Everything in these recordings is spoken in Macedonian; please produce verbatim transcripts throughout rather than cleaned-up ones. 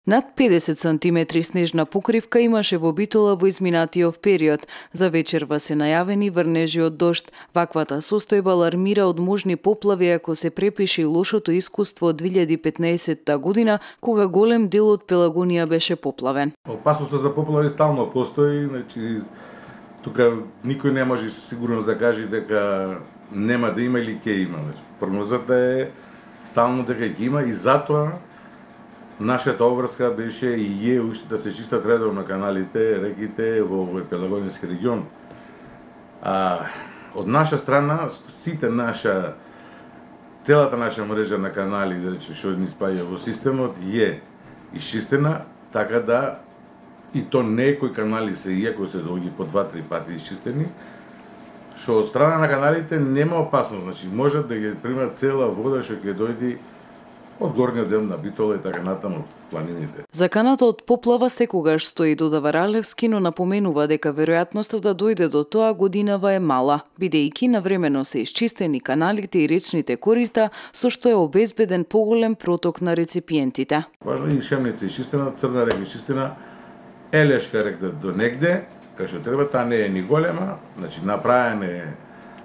Над педесет сантиметри снежна покривка имаше во Битола во изминатиот период. За вечерва се најавени врнежи од дожд. Ваквата состојба алармира од можни поплави ако се препише и лошото искуство од две илјади и петнаесетта година, кога голем дел од Пелагонија беше поплавен. Опасноста за поплави стално постои, значи тука никој не може сигурно да каже дека нема да има или ќе има. Значи, прогнозата е стално дека ќе има и затоа нашата обврска беше и е уште да се чистат редовно каналите, реките во овој Пелагонски регион. А од наша страна, сите наша, целата наша мрежа на канали, да речем, што ни спаѓа во системот, е исчистена, така да и то некои канали се, иако се доаѓа по два-три пати исчистени, што од страна на каналите нема опасност, значи може да ги примат цела вода што ќе дојде од горниот дел на Битола и така натаму планините. Заканата од поплава секогаш стои, додава Ралевски, но напоменува дека веројатноста да дојде до тоа годинава е мала, бидејќи навремено се исчистени каналите и речните корита, со што е обезбеден поголем проток на реципиентите. Важно е и Шемница исчистена, Црна река исчистена, Елешка река до негде, кај што треба, таа не е ни голема, значи направена е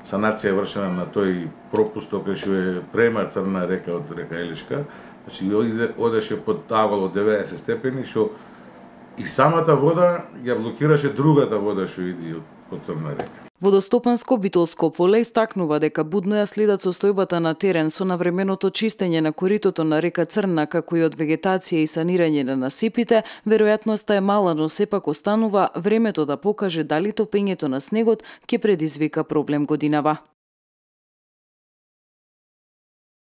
санација вршена на тој пропуст кај што е према Црна река од река Елешка, значи одеше под агол од деветдесет степени, што и самата вода ја блокираше другата вода што иде од Црна река. Водостопанско Битолско поле истакнува дека будно ја следат состојбата на терен со навременото чистење на коритото на река Црна, како и од вегетација и санирање на насипите. Веројатноста е мала, но сепак останува времето да покаже дали топењето на снегот ќе предизвика проблем годинава.